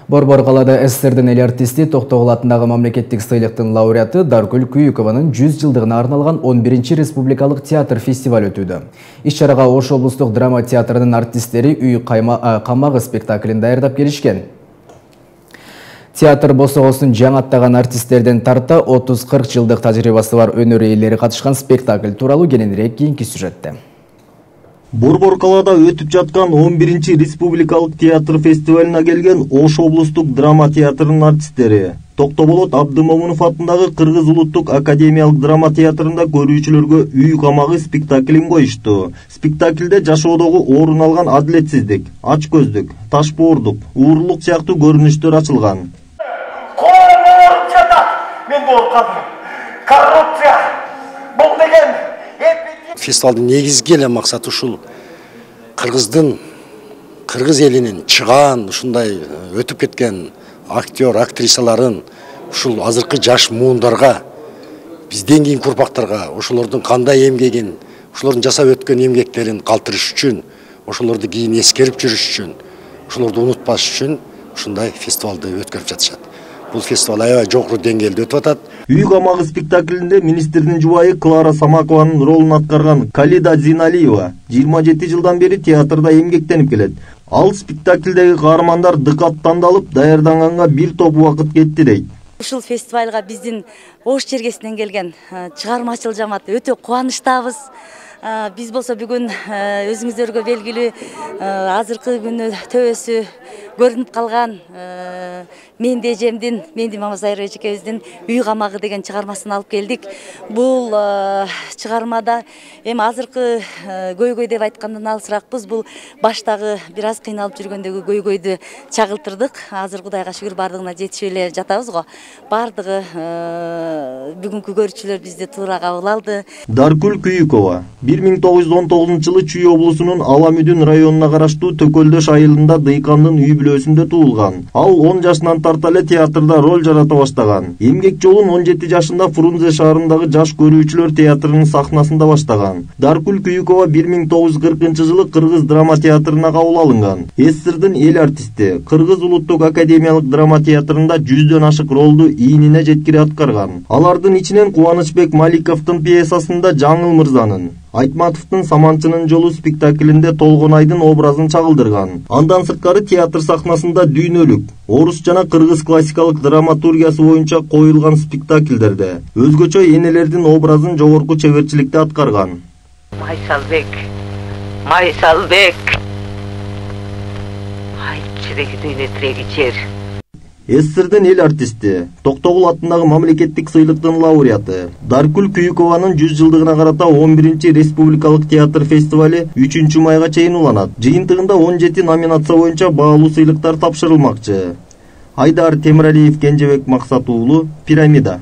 Борбор калада СССРдин эл артисти Токтогул атындагы мамлекеттик сыйлыктын лауреаты Даркүл Күйүкованын 100 жылдыгына арналган 11-чи республикалык театр фестиваль өтүүдө. Иш-чарага Ош облустук драма театрынын артисттери Үй камагы спектаклин даярдап келишкен. Театр босогосун жаңы аттаган артисттерден тарта 30-40 жылдык тажрыйбасы бар өнөр ээлери катышкан спектакль тууралуу кененирээк кийинки сюжетте. Борбор калада өтүп жаткан 11-чи республикалык театр фестивалына келген Ош облустук драма театрынын артисттери Токтоболот Абдымомунов атындагы Кыргыз улуттук академиялык драма театрында көрүүчүлөргө Үй камагы спектаклин коюшту. Спектаклде жашоодогу орун алган адилетсиздик, ачкөздүк, ташбоордук, уурулук сыяктуу көрүнүштөр ачылган. Мен коркам. Коррупция. Бул деген фестивалдын негизги эле максаты ушул кыргыз элинин чыгаан ушундай өтүп кеткен актер, актрисаларын ушул азыркы жаш муундарга, бизден кийинки урпактарга ошолордун кандай эмгегин, ошолордун жасап өткөн эмгектерин калтырыш үчүн, ошолорду кийин эскерип жүрүш үчүн, ошолорду унутпаш үчүн ушундай фестивалды өткөрүп жатышат. Бул фестиваль аябай жогору деңгээлде өтүп атат. Үй камагы спектаклинде министрдин жубайы Клара Самакованын ролун аткарган Калида Зиналиева 27 жылдан бери театрда эмгектенип келет. Ал спектаклдеги каармандар дыкат тандалып, даярданганга бир топ убакыт кетти дейт. Ушул фестивалга биздин Ош чергесинен келген чыгармачыл жамаат өтө кубанычтабыз. Биз болсо бүгүн өзүңүздөргө белгилүү азыркы күнү төбөсү көрүнүп калган Менди эжемдин, Менди Мамасайыр эжекебиздин Үй камагы деген чыгармасын алып келдик. Бул чыгармада эми азыркы көйгөй деп айткандан алысыракпыз. Бул баштагы бир аз кыйналып жүргөндөгү көйгөйдү чагылтырдык. Азыр Кудайга шүгүр бардыгына жетишип эле жатабыз го. Бардыгы бүгүнкү көрүүчүлөр бизди туура кабыл алды. Даркүл Күйүкова 1919-жылы Чүй облусунун Аламүдүн районуна караштуу Төкөлдөш айылында дыйкандын үй бүлөсүндө туулган. Ал 10 жашынан тарта эле театрда роль жарата баштаган. Эмгек жолун 17 жашында Фрунзе шаарындагы жаш көрүүчүлөр театрынын сахнасында баштаган. Даркүл Күйүкова 1940-жылы Кыргыз драма театрына кабыл алынган. СССРдин эл артисти Кыргыз улуттук академиялык драма театрында 100дөн ашык ролду ийнине жеткире аткарган. Алардын ичинен Кубанычбек Маликовдун пьесасында Жаңыл мырзанын, Айтматовдун Саманчынын жолу спектаклинде Толгонайдын образын чагылдырган. Андан сырткары театр сахнасында Дүйнөлүк, орус жана кыргыз классикалык драматургиясы боюнча коюлган спектакльдерде өзгөчө энелердин образын жогорку чеберчиликте аткарган. Майсалбек. Айтчыдеги дүйнө тиреги жер. СССРдин эл артисти, Токтогул атындагы мамлекеттик сыйлыктын лауреаты Даркүл Күйүкованын 100 жылдыгына карата 11-чи республикалык театр фестивали 3-майга чейин уланат. Жыйынтыгында 17 номинация боюнча баалуу сыйлыктар тапшырылмакчы. Айдар Темиралиев, Кенжебек Максат уулу, Пирамида.